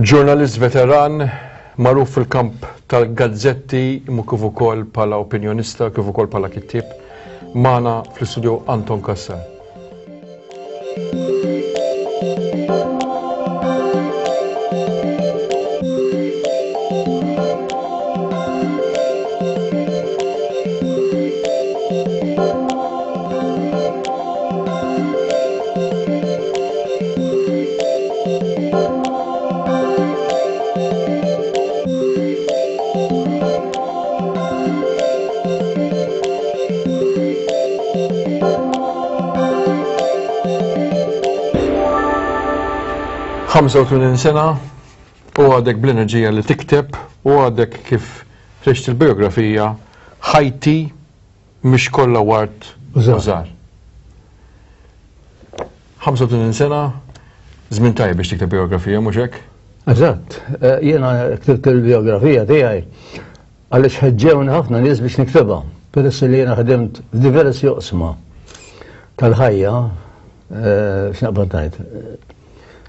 Ġurnalist veteran, magħruf fil-kamp tal-gazzetti imma kif ukoll bħala opinjonista, kif ukoll bħala kittieb, magħna fl-istudio Anton Cassar. 85 sena u għadek bl-enerġija li tikteb u għadek kif ħriġt il-biografija Ħajti mhix kollha ward u żgħar. 85 sena, żmien tajjeb biex tikteb biografija, mhux hekk? Eżatt, eh, jiena ktibt il-biografija tiegħi għaliex ħeġġewni ħafna nies biex niktibha. Peress li jiena ħdimt f'diversi oqsma tal-ħajja, eh, x'naqbad ngħid, eh,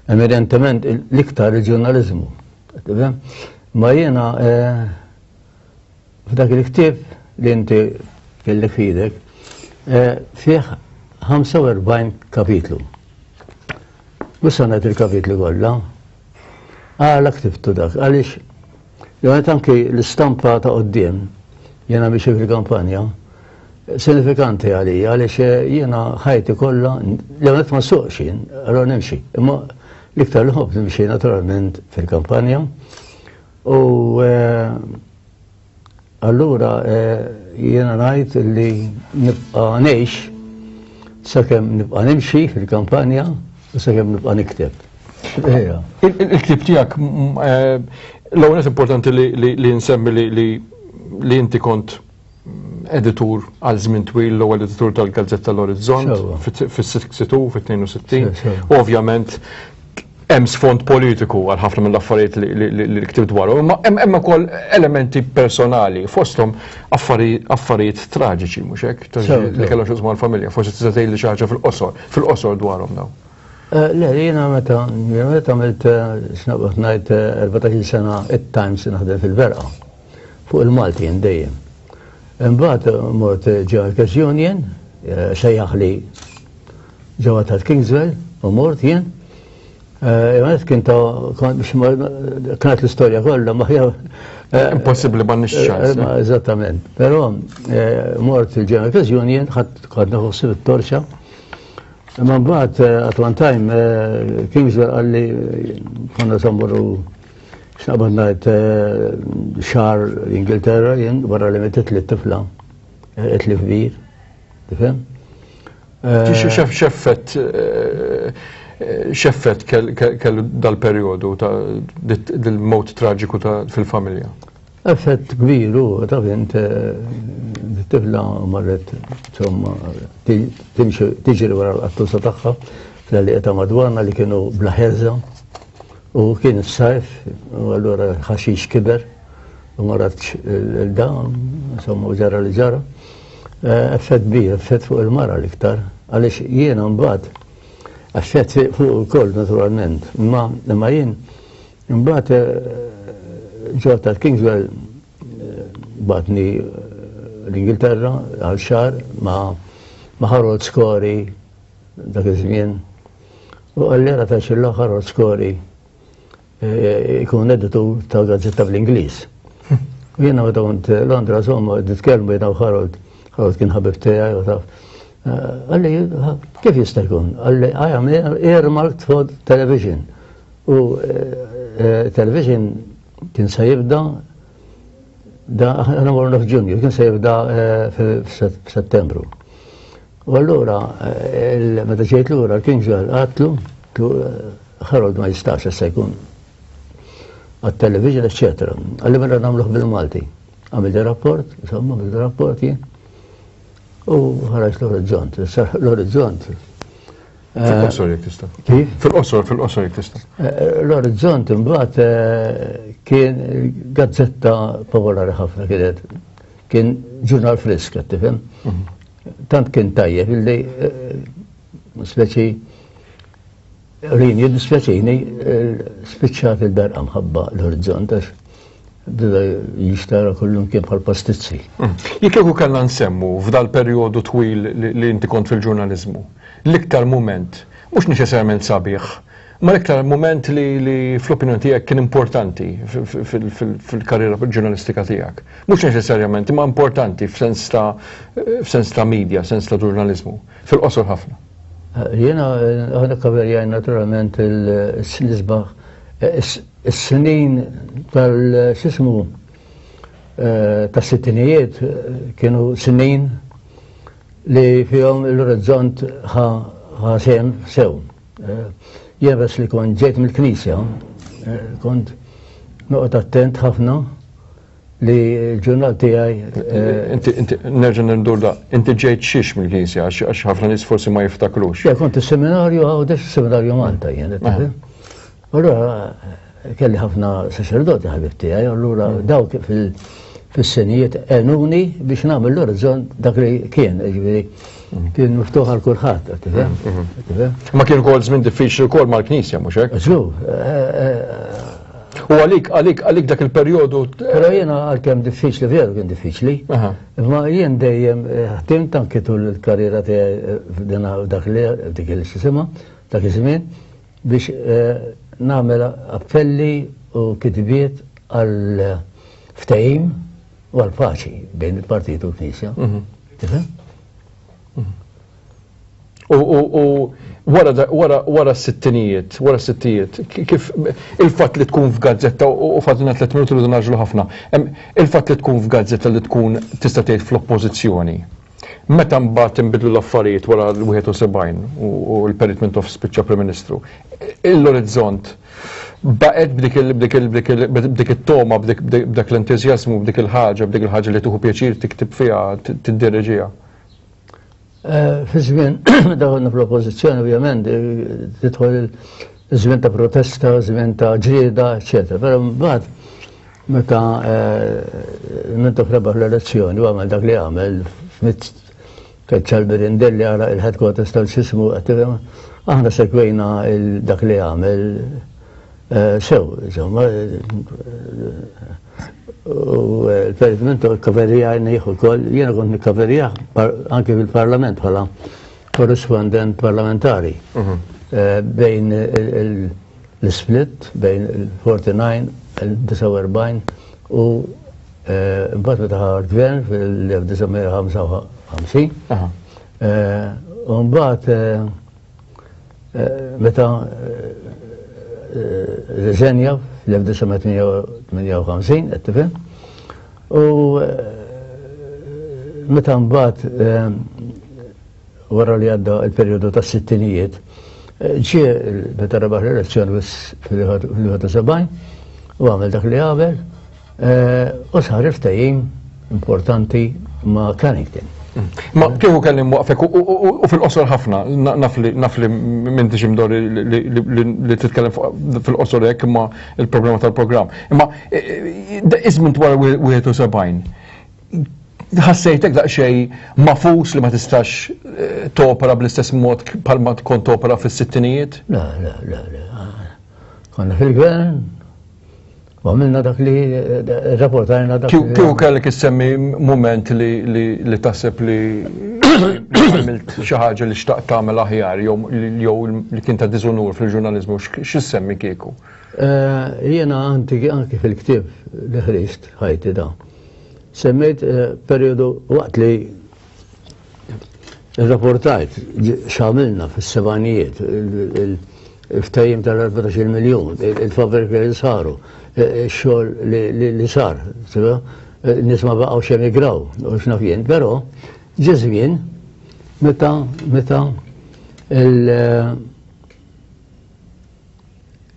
eminentement l-iktar il-ġurnaliżmu. Ma jiena F'dak il-ktieb li inti kellek f'idek, eh, fih 45 kapitlu. Mhux se ngħid il-kapitli kollha. Għala ktibtu dak, għaliex jgħid anki l-istampa ta' qudiem jiena biex fil-kampanja sinifikanti għalija għaliex eh, jiena ħajti kollha li għanet ma suqx jien, allora nimxi. Imma l-iktar li ħobb nimxi naturalment fil-kampanja. U eh, allura eh, jiena ngħid li nibqa' ngħix sakemm nibqa' nimxi fil-kampanja u sakemm nibqa' nikteb. Il-ktib tiegħek eh, l-ewwel importanti li nsemmi li inti kont editur għal żmien twil l-ewwel editur tal-Gazzetta l-Orizzont fis-62, fit-62. U ovvjament hemm sfond politiku għal ħafna mill-affarijiet li ktib dwaru, imma hemm ukoll elementi personali fosthom affarijiet traġiċi mhux hekk li kellhom x'jaqsmu mal-familja, forsi tista' tgħidli xi ħaġa fil-qosor, fil-qosor dwarhom dawn. Eh, le, jiena meta meta għamilt eh, x'naqbad ngħid 14 eh, sena it-Times naħdem fil-Berqa. Fuq il-Malti jien dejjem. Imbagħad mort ġewwa l-Cash Union, eh, sejjaħli ġewwa tal-Kingswell u mort jien. Eh, Imma kien ta' kienet l-istorja kollha ma hija. Eh, Impossibbli ma nix ċans. Eżattament. Però mort il-General Cash Union, ħadd kont naħossib it-torċa. Imma mbagħad at one time Kingswell qalli konna sammuru X'naqbad ngħid eh, xahar l-Ingilterra jien wara li metet li t-tifla eh, qed li kbir. Tifhem? Eh, x'effett x'effett kellu dal-perjodu ta' dil-mewt traġiku ta' fil-familja? Effett kbir u taf int tifla marret insomma timxi tiġri wara l-qattusa tagħha fl-għalieqa ta' madwarna li kienu bla ħerża. U kien is-sajf, u allura l-ħaxix kiber, u ma ratx il-dawn, insomma, u ġara li ġara. Eh, effett kbir, effett fuq il-mara l-iktar, għaliex jiena mbagħad effett fuq ukoll naturalment, imma imma jien mbagħad eh, ġol tal-Kingswell eh, batni l-Ingilterra għal xahar ma' ma' Harold Scory dak iż-żmien. U qalli ara ta' xi l-aħħar Scory eh, ikun editur ta' gazzetta bl-Ingliż. U jiena meta kont Londra insomma nitkellmu jiena u Harold, Harold kien ħabib tiegħi u taf. Eh, qalli kif jista' jkun? Qalli I am earmarked for television. U eh, television kien se jibda da aħna morna f'Ġunju, kien se jibda f'Settembru. U allura, meta ġejt lura, l-King John għatlu, Harold ma jistax issa jkun għat-television, eccetera. Għalli mela nagħmluh bil-Malti. Għamil rapport, insomma, għamil rapport jien. U ħaraġ l-orizzont. L-orizzont. Fil-qosor jekk tista'. Kif? Fil-qosor, fil-qosor jekk tista'. Eh, l-orizzont imbagħad eh, kien gazzetta popolari ħafna kienet. Kien ġurnal frisk, qed tifhem? Mhm. Tant kien tajjeb illi eh, speċi. Rin, jiddispjaċini, spiċċat il-berqa mħabba l-orizzont, għax bida jixtara kullum kien bħal pastizzi. Jekk kieku kellna nsemmu f'dal perjodu twil li inti kont fil-ġurnaliżmu, l-iktar mument, mhux neċessarjament sabiħ, ma l-iktar mument li fl-opinjoni tiegħek kien importanti fil-karriera ġurnalistika tiegħek. Mhux neċessarjament, imma importanti f'sens ta' f'sens ta' media, sens ta' ġurnaliżmu, fil-qosor ħafna. Jiena aħna kaverjaj naturalment l-isbaħ is-snin tal-xismu tas-sittinijiet kienu snin li fihom l-orizzont ħa sehem sew. Jien bes li kont ġejt mill-knisja, kont noqgħod attent ħafna li l-ġurnal tiegħi. Inti, inti, nerġa' ndur da, inti ġejt xiex mill-knisja għax ħafna nies forsi ma jiftakrux. Ja, kont is-seminarju Għawdex, is-seminarju Malta jien. Allura kelli ħafna saċerdoti ħabib tiegħi, allura dawk fis-senijiet għenuni biex nagħmel l-orizzont dak li kien, ġifieri kien miftuħ għal kulħadd, tifhem? Tifhem? Ma kien ukoll żmien diffiċli wkoll mal-Knisja, mhux hekk? Żgur. U għalik, għalik, għalik dak il-perjodu. Però jiena għalkemm diffiċli, veru kien diffiċli, imma jien dejjem ħdimt anki tul il-karriera tiegħi f'dina dak li dik il-sistema, dak iż-żmien, biex nagħmel appelli u kitbiet għal ftehim u għal paċi bejn il-partit u l-Knisja. Tifhem? U wara wara wara s-sittinijiet, wara s-sittijiet, kif il-fatt li tkun f'gazzetta u fadlina 3 minuti rridu naġlu ħafna, il-fatt li tkun f'gazzetta li tkun tista' tgħid fl-oppożizzjoni. Meta mbagħad inbidlu l-affarijiet wara l-71 u l-Perit Mintoff spiċċa Prim Ministru, l-orizzont baqgħet b'dik b'dik b'dik b'dik it-toma, b'dak l-entużjażmu, b'dik il-ħaġa, b'dik il-ħaġa li tieħu pjaċir tiktib fiha, tiddireġiha. Fi żmien meta konna fl-oppożizzjoni ovvjament tidħol żmien ta' protesta, żmien ta' ġlieda, eċetera. Però mbagħad meta Mintoff rebaħ l-elezzjoni u għamel dak li għamel f'mitt keċċa l-Birindelli għala il-headquarters tal-sismu, aħna segwejna dak li għamel sew, insomma, u l-Perit Mintoff kaverjajni ukoll, jiena kont nikkaverjah anke fil-Parlament bħala korrispondent parlamentari bejn l-split bejn il-49, il-49 u mbagħad meta ħa l-gvern fil-1955. U mbagħad meta rriżenja fl-1958, qed tifhem? U meta mbagħad wara li għadda il-perjodu tas-sittinijiet, ġie meta rebaħ l-elezzjoni fil-71 u għamel dak li għamel u sar il-ftehim importanti ma' Carrington. Ma kieku kelli mwaqfek u fil-qosor ħafna, naf li naf li m'intix imdorri li titkellem fil-qosor hekk imma il-problema tal-programm. Imma iż-żmien wara 71 ħassejtek daqsxejn mafus li ma tistax topera bl-istess mod bħalma kont topera fis-sittinijiet? Le, le, le, le. Konna fil-gvern, u għamilna dak li rapportajna dak. Kieku kellek issemmi mument li taħseb li għamilt xi ħaġa li xtaqt tagħmel aħjar jew li kien ta' diżunur fil-ġurnaliżmu, x'issemmi kieku? Jiena anki fil-ktieb li ħriġt ħajti da. Semmejt perjodu waqt li rrapportajt x'għamilna fis-sebgħinijiet, il-ftehim tal-14 miljun, il-fabbriki li saru, ix-xogħol li sar, nies ma baqgħux emigraw, u x'naf jien, però ġie żmien meta meta il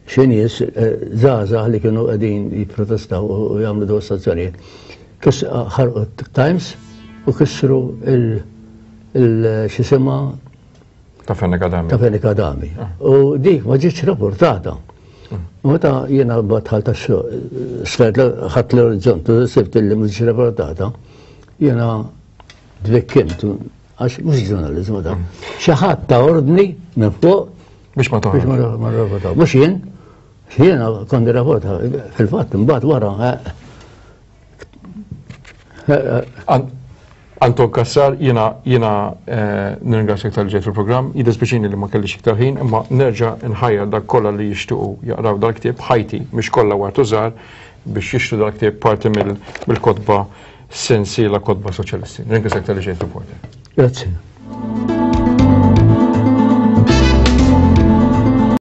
xi nies żgħażagħ li kienu qegħdin jipprotestaw u jagħmlu dimostrazzjonijiet ħarqu t-Times u kissru il-xisimha ta' Fenech Adami. Ta' Fenech Adami. U dik ma ġietx rapportata. U meta jiena dħalt għax-xogħol, sfert ħadt l-orizzont u sibt li ma ġietx rapportata, jiena dvikkimt għax mhux ġurnaliżmu dan. Xi ħadd ta' ordni minn fuq. Biex ma toħroġ. Biex ma rrapportaw. Mhux jien, jiena kont nirrapporta fil-fatt imbagħad wara. Eh, Anton Kassar, jiena jiena eh, nirringrazzjak tal-ġejt fil-programm, jiddispjaċini li ma kellix iktar ħin, imma nerġa' nħajjar dak kollha li jixtiequ jaqraw dal-ktieb ħajti mhix kollha wartu żgħar biex jixtru dal-ktieb parti mill-kotba sensiela kotba soċjalisti. Nirringrazzjak tal-li ġejt reporter. Grazzi.